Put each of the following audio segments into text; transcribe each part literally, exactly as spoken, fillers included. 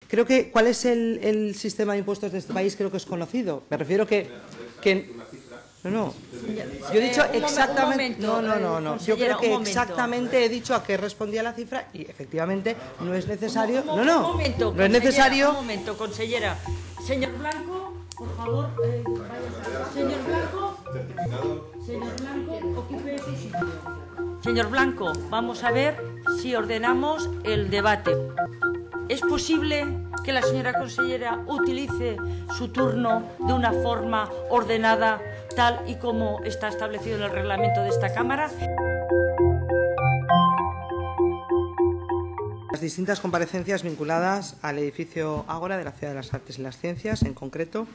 Creo que, ¿cuál es el, el sistema de impuestos de este país? Creo que es conocido. Me refiero que... que no, no. Yo he dicho exactamente... No, no, no, no. Yo creo que exactamente he dicho a qué respondía la cifra y efectivamente no es necesario... No, no, no es necesario... Un momento, consellera. Señor Blanco, por favor, eh, vaya. Señor Blanco, señor Blanco, ocupe su sitio. Señor Blanco, vamos a ver si ordenamos el debate. ¿Es posible que la señora consellera utilice su turno de una forma ordenada, tal y como está establecido en el reglamento de esta Cámara? Las distintas comparecencias vinculadas al edificio Ágora de la Ciudad de las Artes y las Ciencias, en concreto,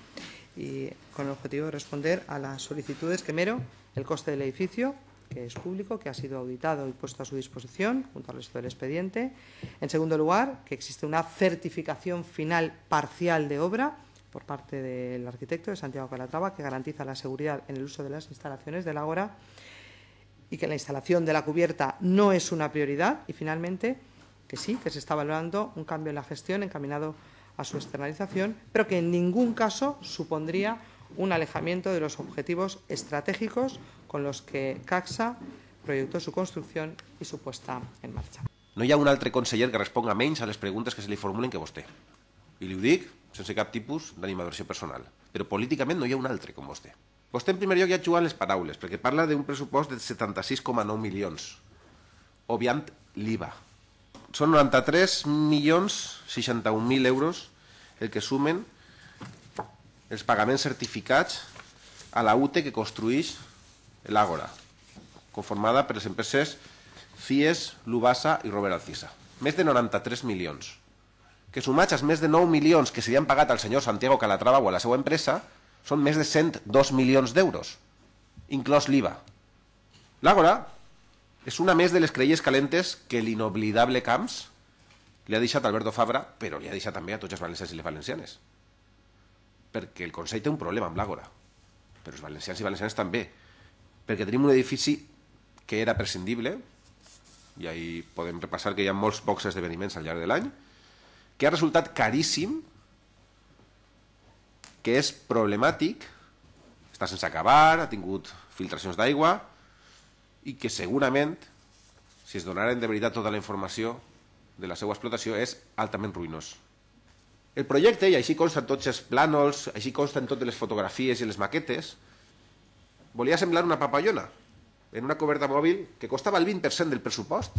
y con el objetivo de responder a las solicitudes que mero el coste del edificio, que es público, que ha sido auditado y puesto a su disposición junto al resto del expediente. En segundo lugar, que existe una certificación final parcial de obra por parte del arquitecto de Santiago Calatrava que garantiza la seguridad en el uso de las instalaciones del Ágora y que la instalación de la cubierta no es una prioridad. Y finalmente, que sí, que se está valorando un cambio en la gestión encaminado a su externalización, pero que en ningún caso supondría un alejamiento de los objetivos estratégicos con los que Caxa proyectó su construcción i su puesta en marxa. No hi ha un altre conseller que responga menys a les preguntes que se li formulen que vostè. I li ho dic sense cap tipus d'animaversió personal. Però políticament no hi ha un altre com vostè. Vostè, en primer lloc, ja ha jugat les paraules, perquè parla d'un pressupost de setanta-sis coma nou milions, obviant l'I V A. Són noranta-tres milions seixanta-un mil euros el que sumen els pagaments certificats a la U T E que construeix l'Àgora, conformada per les empreses C I E S, Lubasa i Robert Alcisa. Més de noranta-tres milions, que sumats als més de nou milions que se li han pagat al senyor Santiago Calatrava o a la seva empresa, són més de cent dos milions d'euros, inclòs l'I V A. L'Àgora és una més de les creïes calentes que l'inoblidable Camps li ha deixat Alberto Fabra, però li ha deixat també a tots els valencians i les valencianes. Perquè el Consell té un problema amb l'Àgora, però els valencians i valencianes també, perquè tenim un edifici que era prescindible, i ahí podem repassar que hi ha molts pocs esdeveniments al llarg de l'any, que ha resultat caríssim, que és problemàtic, està sense acabar, ha tingut filtracions d'aigua, i que segurament, si es donaren de veritat tota la informació de la seva explotació, és altament ruïnós. El projecte, i així consten tots els plànols, així consten totes les fotografies i les maquetes, volia semblar una papallona en una coberta mòbil que costava el vint per cent del pressupost.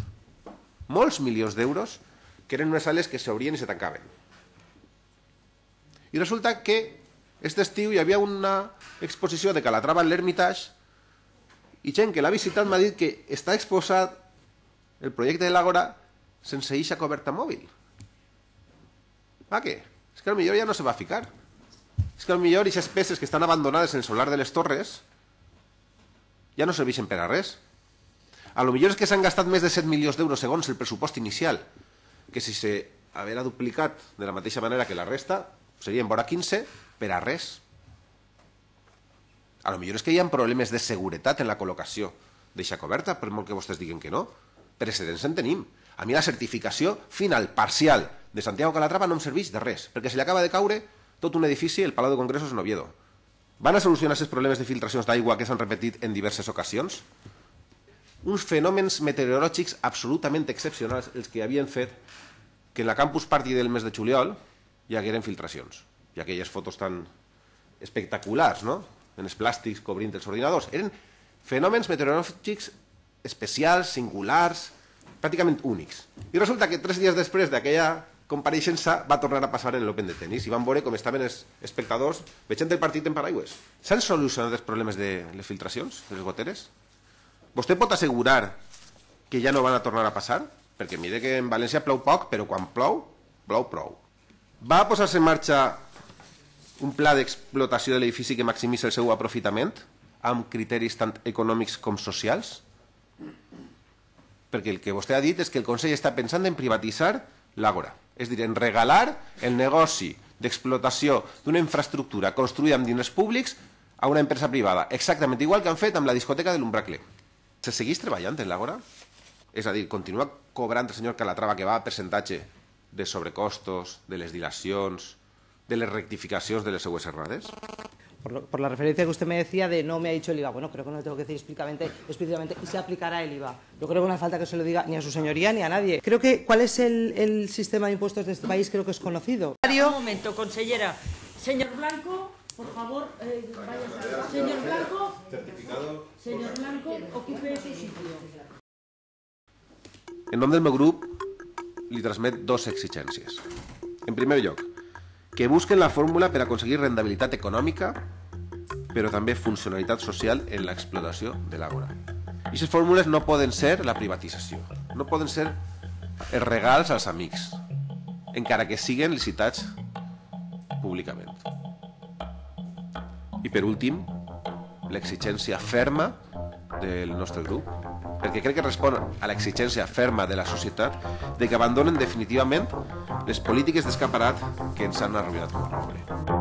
Molts milions d'euros que eren unes sales que s'obrien i se tancaven. I resulta que aquest estiu hi havia una exposició de Calatrava en l'Hermitage i gent que l'ha visitat m'ha dit que està exposat el projecte de l'Àgora sense eixa coberta mòbil. Ah, què? És que potser ja no se va ficar. És que potser aquestes peces que estan abandonades en el solar de les torres ja no serveixen per a res. A lo millor és que s'han gastat més de set milions d'euros segons el pressupost inicial, que si s'haguera duplicat de la mateixa manera que la resta, serien vora quinze per a res. A lo millor és que hi ha problemes de seguretat en la col·locació d'eixa coberta, per molt que vostès diguen que no. Precedents en tenim. A mi la certificació final, parcial, de Santiago Calatrava no em serveix de res, perquè se li acaba de caure tot un edifici, el Palau de Congressos en Oviedo. Van a solucionar aquests problemes de filtracions d'aigua que s'han repetit en diverses ocasions? Uns fenòmens meteorològics absolutament excepcionals els que havien fet que en la Campus Party del mes de juliol hi hagueren filtracions. I aquelles fotos tan espectaculars, no?, en els plàstics cobrint els ordinadors. Eren fenòmens meteorològics especials, singulars, pràcticament únics. I resulta que tres dies després d'aquella compareixença va tornar a passar en l'Open de tenis i van veure com estaven els espectadors veient el partit en paraigües. S'han solucionat els problemes de les filtracions, de les goteres? Vostè pot assegurar que ja no van a tornar a passar? Perquè mire que en València plou poc, però quan plou, plou prou. Va posar-se en marxa un pla d'explotació de l'edifici que maximitzi el seu aprofitament amb criteris tant econòmics com socials? Perquè el que vostè ha dit és que el Consell està pensant en privatitzar l'Àgora, és a dir, en regalar el negoci d'explotació d'una infraestructura construïda amb diners públics a una empresa privada, exactament igual que han fet amb la discoteca de l'Umbracle. Se segueix treballant en l'Àgora? És a dir, continua cobrant el senyor Calatrava, que va a percentatge de sobrecostos, de les dilacions, de les rectificacions de les seues errades? Por, lo, por la referencia que usted me decía de no me ha dicho el I V A. Bueno, creo que no le tengo que decir explícitamente, explícitamente y se aplicará el I V A. Yo creo que no hace falta que se lo diga ni a su señoría ni a nadie. Creo que cuál es el, el sistema de impuestos de este país creo que es conocido. Un momento, consellera. Señor Blanco, por favor, eh, vaya. Señor Blanco, certificado. Señor Blanco, ocupe su sitio. En nom del meu grup, li transmet dos exigències. En primer lloc, que busquen la fórmula per aconseguir rendibilitat econòmica, però també funcionalitat social en l'explotació de l'àgora. I aquestes fórmules no poden ser la privatització, no poden ser els regals als amics, encara que siguen licitats públicament. I per últim, l'exigència ferma del nostre grup, perquè crec que respon a l'exigència ferma de la societat de que abandonen definitivament les polítiques d'escaparat que ens han arruïnat com a poble.